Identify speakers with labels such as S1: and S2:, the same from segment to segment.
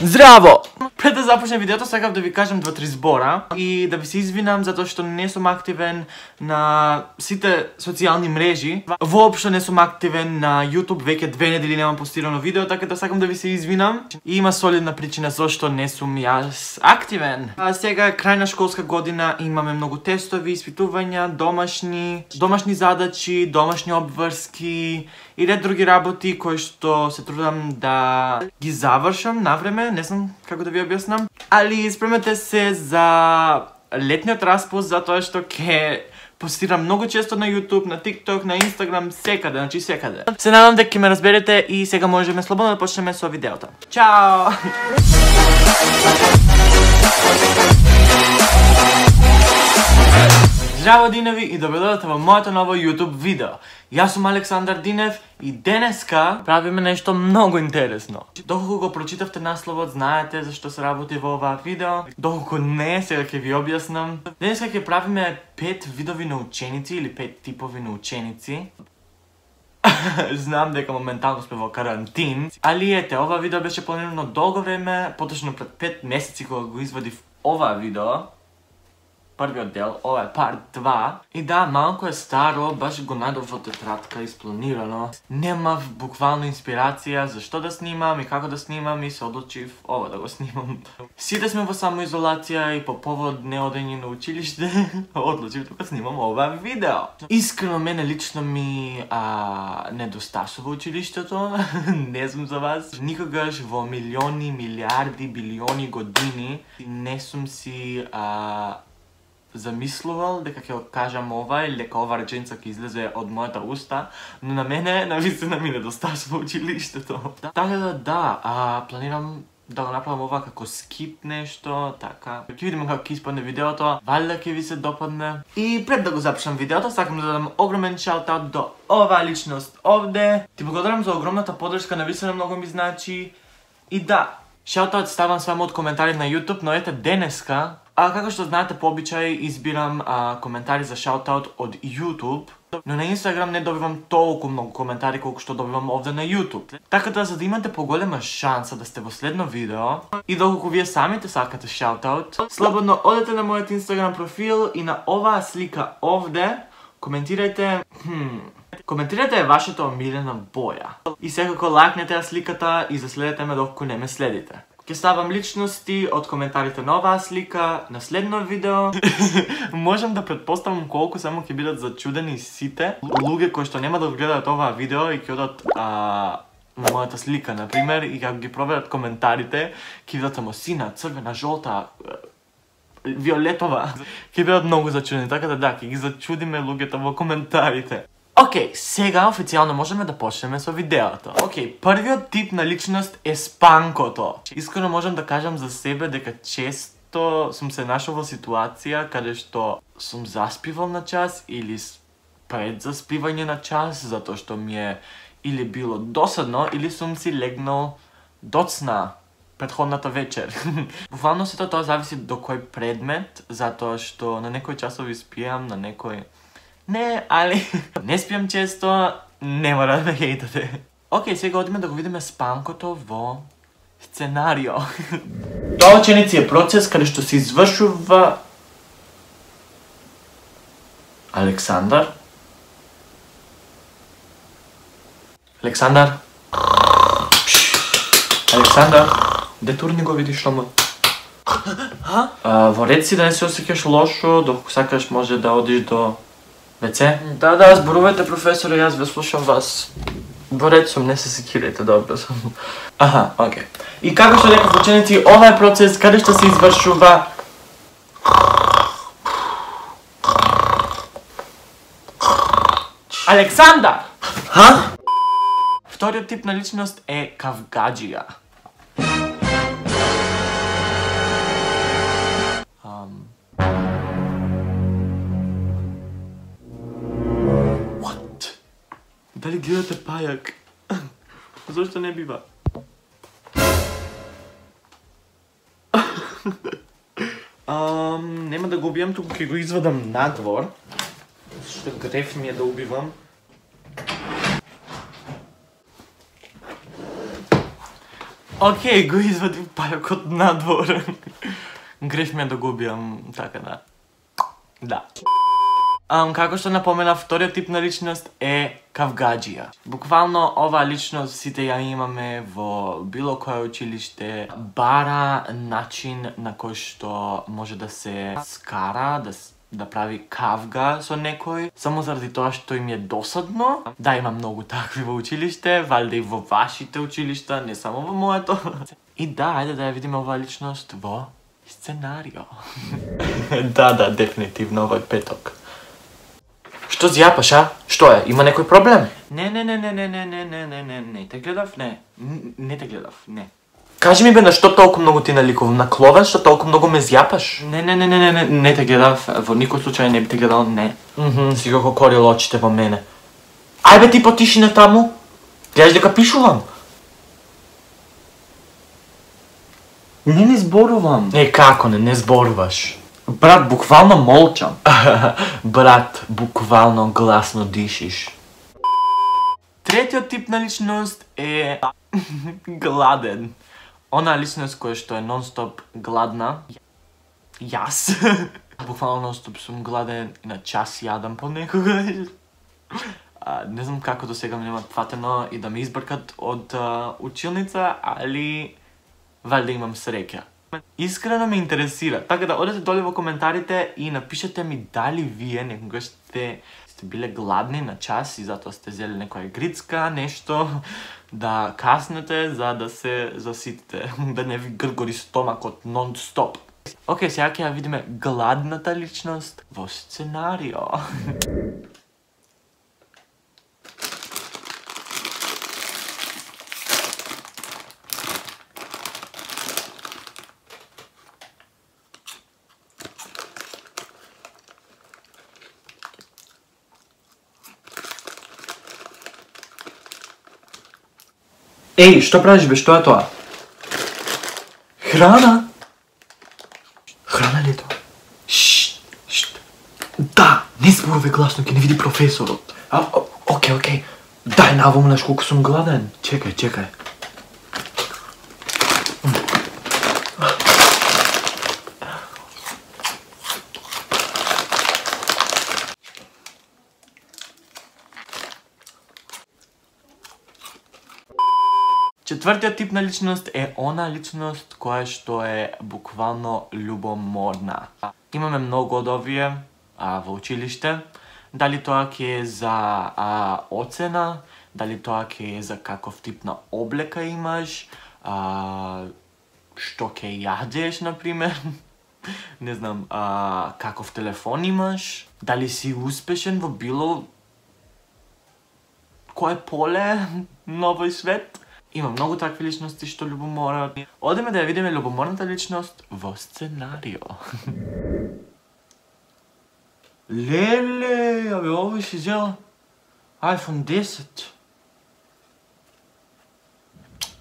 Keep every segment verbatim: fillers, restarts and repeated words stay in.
S1: Здраво! Пред да започнем видеото, сакав да ви кажам два-три збора и да ви се извинам затоа што не сум активен на сите социјални мрежи. Воопшто не сум активен на YouTube, веќе две недели немам постирано видео, така да сакам да ви се извинам. И има солидна причина зашто не сум јас активен. А сега е крај на школска година, имаме многу тестови, испитувања, домашни, домашни задачи, домашни обврски и ред други работи кои што се трудам да ги завршам на време, не знам како да ви објаснам. Али спремете се за летниот распуст затоа што ќе постирам многу често на YouTube, на TikTok, на Instagram, секаде, значи секаде. Се надам дека ќе ме разберете и сега можеме слободно да почнеме со видеото. Чао! Здраво Диневи и добродојдовте во моето ново YouTube видео. Јас сум Александар Динев и денеска правиме нешто многу интересно. Доколку го прочитавте насловот, знаете зашто се работи во оваа видео. Доколку не, сега ќе ви објаснам. Денеска ќе правиме пет видови на ученици или пет типови на ученици. Знам дека моментално сме во карантин, али ете, ова видео беше планирано долго време, поточно пред пет месеци кога го извадив ова видео. Првиот дел, ова е парт два. И да, малку е старо, баш го најдов во тетрадка, испланирано. Немав буквално инспирација за што да снимам и како да снимам и се одлучив ова да го снимам. Сите сме во самоизолација и по повод неодење на училиште, одлучив да го снимам ова видео. Искрено мене лично ми а, недостасува училиштето, не сум за вас. Никогаш во милиони, милиарди, билиони години не сум си а, замислувал дека ќе кажам ова или дека ова реченица ќе излезе од мојата уста, но на мене навистина ми недостасува училиштето. Така да да, а, планирам да го направам ова како скип нешто, така. Ќе видиме како ќе испадне видеото, валјда ќе ви се допадне. И пред да го започнам видеото, сакам да дадам огромен шаут-аут до оваа личност овде. Ти благодарам за огромната поддршка, навистина многу ми значи. И да, шаут-аут ставам само од коментари на YouTube, но ете денеска, а како што знаете по обичај избирам а, коментари за шаут-аут од YouTube, но на Instagram не добивам толку многу коментари колку што добивам овде на YouTube. Така да за да имате поголема шанса да сте во следно видео и доколку вие самите сакате шаут-аут, слободно одете на мојот Instagram профил и на оваа слика овде коментирајте хм, коментирајте вашата омилена боја. И секако лајкнете ја сликата и заследете ме доколку не ме следите. Ке ставам личности од коментарите на оваа слика на следно видео. Можам да претпоставам колку само ќе бидат зачудени сите луѓе кои што нема да гледаат оваа видео и ќе одат а, на мојата слика, например, и како ги проверат коментарите, ќе видат само сина, црвена, жолта, виолетова. Ќе бидат многу зачудени, така да да, ќе ги зачудиме луѓето во коментарите. Океј, сега официјално можеме да почнеме со видеото. Океј, првиот тип на личност е спанкото. Искрено можам да кажам за себе дека често сум се нашол во ситуација каде што сум заспивал на час или пред заспивање на час, затоа што ми е или било досадно, или сум си легнал доцна претходната вечер. Буквално сето тоа зависи до кој предмет, затоа што на некои часови спијам, на некој не, али не спијам често, не мора да ме хейтате. Океј, сега одиме да го видиме спанкото во сценарио. Тоа ученици е процес каде што се извршува Александар. Александар. Александар, де турни го видиш шомот? Во ред си да не се осеќаш лошо, доколку сакаш може да одиш до веце? Да, да, зборувајте професоре, јас ве слушам вас. Во ред сум, не се секирајте, добро сум. Аха, окей. И како што рекав ученици, ова е процес каде што се извршува Александар! Ха? Вториот тип на личност е кавгаджија. Дали гледате пајак? Зошто не бива? um, нема да го убијам, туку ќе го извадам надвор. Што греф ми е да убивам. Океј, го извадив пајокот надвор. Греш ми е да го убијам, така да. Да. Um, како што напомена, вториот тип на личност е кавгаджија. Буквално оваа личност сите ја имаме во било кое училиште. Бара начин на кој што може да се скара, да, да прави кавга со некој, само заради тоа што им е досадно. Да, има многу такви во училиште, валјда и во вашите училишта, не само во моето. И да, ајде да ја видиме оваа личност во сценарио. Да, да, дефинитивно овој петок. Што зјапаш, а? Што е? Има некој проблем? Не, не, не, не, не, не, не, не, не, не, не, те гледав, не. Не те гледав, не. Кажи ми бе, на што толку многу ти наликувам? На Кловен, што толку многу ме зјапаш? Не, не, не, не, не, не, не те гледав, во никој случај не би те гледал, не. Мхм, си го корил очите во мене. Ај бе, ти потиши на таму. Гледаш дека пишувам. Не, не зборувам. Е, како не, не зборуваш? Брат, буквално молчам. Брат, буквално гласно дишиш. Третиот тип на личност е гладен. Она личност која што е нон-стоп гладна. Јас. Буквално нон-стоп сум гладен и на час јадам понекогаш. Не знам како до сега ме немат фатено и да ме избркат од училница, али валјда имам среќа. Искрено ме интересира, така да одете доле во коментарите и напишете ми дали вие некогаш сте, сте биле гладни на час и затоа сте зели некоја грицка, нешто, да каснете за да се заситите, да не ви гргори стомакот нон-стоп. Океј, сега ќе ја видиме гладната личност во сценарио. Еј, што правиш бе, што е тоа? Храна? Храна ли е тоа? Шшт, шшт. Да, не зборуве гласно, ќе не види професорот. А, окей, окей. Дај навомнеш колку сум гладен. Чекај, чекај. Четвртиот тип на личност е она личност која што е буквално љубоморна. Имаме многу од овие а, во училиште. Дали тоа ќе е за а, оцена, дали тоа ќе е за каков тип на облека имаш, а, што ќе јадеш, например. Не знам, а, каков телефон имаш, дали си успешен во било кое поле на овој свет. Има многу такви личности што љубоморат. Одеме да ја видиме љубоморната личност во сценарио. Леле, абе, овој си зела iPhone десет.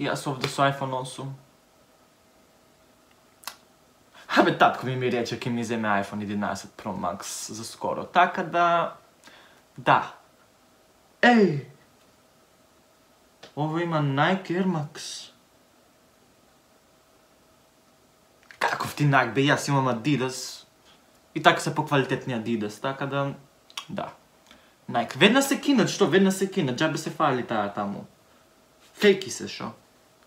S1: Јас овде со iPhone осум. Абе, татко ми ми рече ке ми земе iPhone единаесет Pro Max за скоро. Така да... Да. Еј! Ово има Nike Air Max. Каков ти Nike, бе, јас имам Adidas. И така се поквалитетни Adidas, така да... Да. Nike. Веднаш се кинат, што? Веднаш се кинат, джабе се фали таа таму. Фейки се, шо?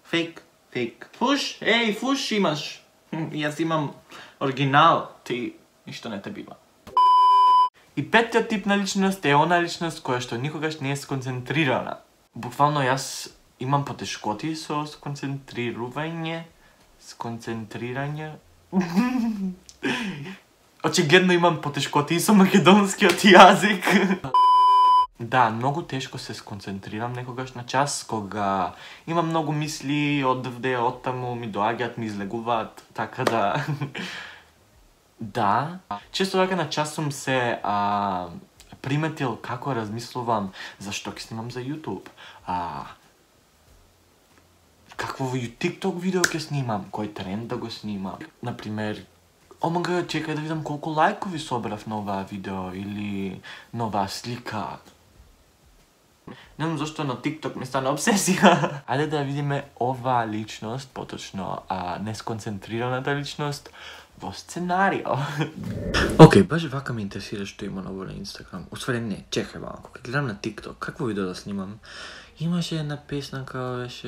S1: Фейк, фейк. Фуш, еј, фуш имаш. Јас имам оригинал, ти ништо не те бива. И петтиот тип на личност е она личност која што никогаш не е сконцентрирана. Буквално јас имам потешкоти со сконцентрирување, сконцентрирање. Очигледно имам потешкоти и со македонскиот јазик. Да, многу тешко се сконцентрирам некогаш на час, кога имам многу мисли одвде, оттаму, ми доаѓаат, ми излегуваат, така да... Да, често така на час сум се а, приметил како размислувам зашто ќе снимам за YouTube. А, какво TikTok видео ќе снимам, кој тренд да го снимам. Например, омага, чекај да видам колку лајкови собрав на оваа видео или на оваа слика. Не знам зашто на TikTok ми стана обсесија. Ајде да видиме оваа личност, поточно а, несконцентрираната личност во сценарио. Океј, баш вака ме интересира што има ново на Инстаграм. Усвари не, чекај малку. Кога гледам на TikTok, какво видео да снимам? Имаше една песна као беше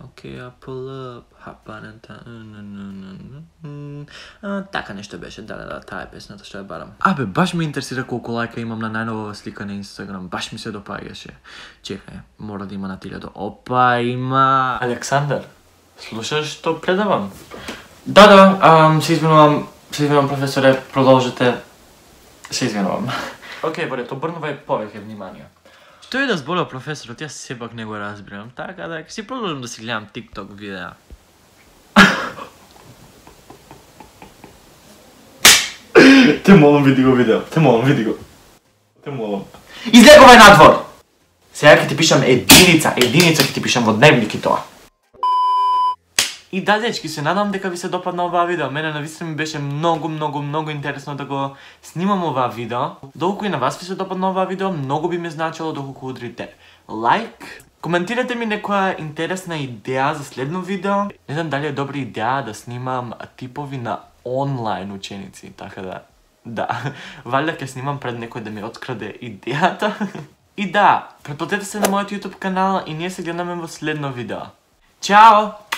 S1: океј, I pull up, hop on and така нешто беше, да, да, да, таа е песната што ја барам. Абе, баш ме интересира колку лајка имам на најновата слика на Инстаграм, баш ми се допаѓаше. Чекај, мора да има на илјада. Опа, има! Александар, слушаш што предавам? Да, да, ам, се извинувам, се извинувам професоре, продолжете. Се извинувам. Океј, борет, обрнувај повеќе внимание. Што е да зборува професорот, јас сепак не го разбирам, така да ќе си продолжам да си гледам TikTok видеа. Те молам, види го видео, те молам, види го. Те молам. Излегувај надвор! Сега ќе ти пишам единица, единица ќе ти пишам во дневник и тоа. И да, дечки, се надам дека ви се допадна оваа видео. Мене навистина ми беше многу, многу, многу интересно да го снимам оваа видео. Доколку и на вас ви се допадна оваа видео, многу би ми значило доколку удрите лайк. Коментирате ми некоја интересна идеја за следно видео. Не знам дали е добра идеја да снимам типови на онлайн ученици, така да... Да, валјда ќе снимам пред некој да ми откраде идејата. И да, претплатете се на мојот YouTube канал и ние се гледаме во следно видео. Чао!